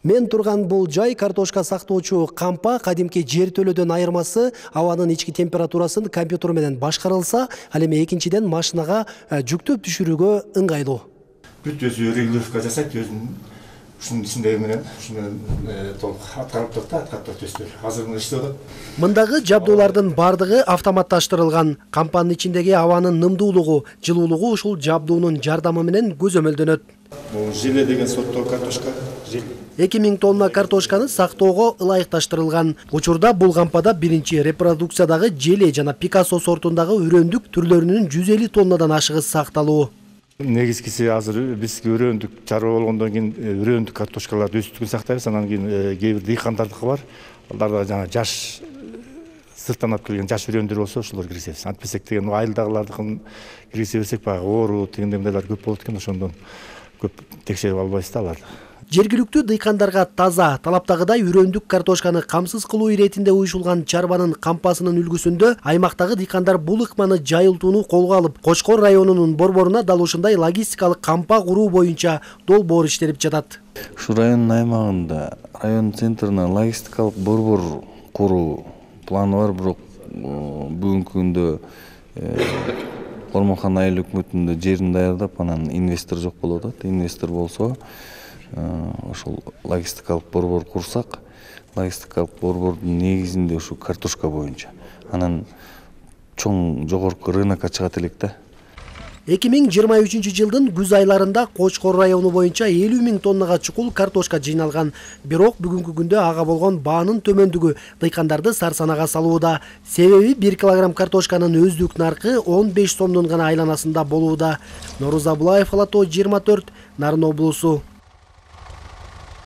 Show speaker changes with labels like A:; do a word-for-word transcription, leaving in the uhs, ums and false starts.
A: Мен турган бул жай картошка сактоочу кампа кадимки жер төлөдөн айырмасы абанын ички температурасын компьютер менен башкарылса, ал эми экинчиден машинага жүктөп түшүрүүгө ыңгайлуу.
B: Бүт өзү регулировка жасайт, өзүнүн ушунун ичиндеги менен, ушу менен толук аткарып турат, аткарып өстүр. Азыр мына иштеп атат.
A: Мындагы жабдуулардын бардыгы автоматташтырылган. Кампанын ичиндеги абанын нымдуулугу, жылуулугу ушул жабдуунун жардамы менен көзөмөлдөнөт.
B: Бул желе деген сорттогу картошка, желе.
A: эки миң тонна картошканы сактоого ылайыкташтырылган. Учурда бул кампада биринчи репродукциядагы желе жана Пикассо сортундагы үрөндүк түрлөрүнүн жүз элүү тоннадан ашыгы сакталуу.
B: Негизгиси азыр биз үрөндүк чарба болгондон кийин үрөндүк картошкаларды өсүтүп сактайбыз. Анан кийин кээ бир дыйкандардыкы бар. Аларда жана жаш сырттан алып келген жаш үрөндөр болсо ошолор киргизебиз. Антпесек деген айылдагылардыкын киргизе берсек, баягы оору тегиндей мындайлар көп болот экен, ошондон көп текшерип албайбыз да аларды.
A: Жергиликтүү дыйкандарга таза, талаптагыдай үрөндүк картошканы камсыз кылуу иретинде уюшулган чарбанын кампасынын үлгүсүндө аймактагы дыйкандар бул ыкманы жайылтууну колго алып, Кочкор районунун борборуна дал ушундай логистикалык кампа куруу боюнча долбоор иштелип жатат.
C: Ушу райондун аймагында район центринен логистикалык борбор куруу планы бар, бирок бүгүнкү күндө Ормонхан айыл өкмөтүндө жерин даярдап, анан инвестор жок болуп атат. Инвестор болсо, ошол логистикалык борбор курсак, логистикалык борбордун негизинде ушу картошка боюнча, анан чоң жогорку рынокко чыгат элек да.
A: эки миң жыйырма үчүнчү жылдын күз айларында Кочкор району боюнча элүү миң тоннага чукул картошка жыйналган. Бирок бүгүнкү күндө ага болгон баанын төмөндүгү дыйкандарды сарсанага салууда. Себеби бир килограмм картошканын өздүк наркы он беш сомдун гана айланасында болууда. Норуза Булаев, Алатоо жыйырма төрт, Нарын облусу.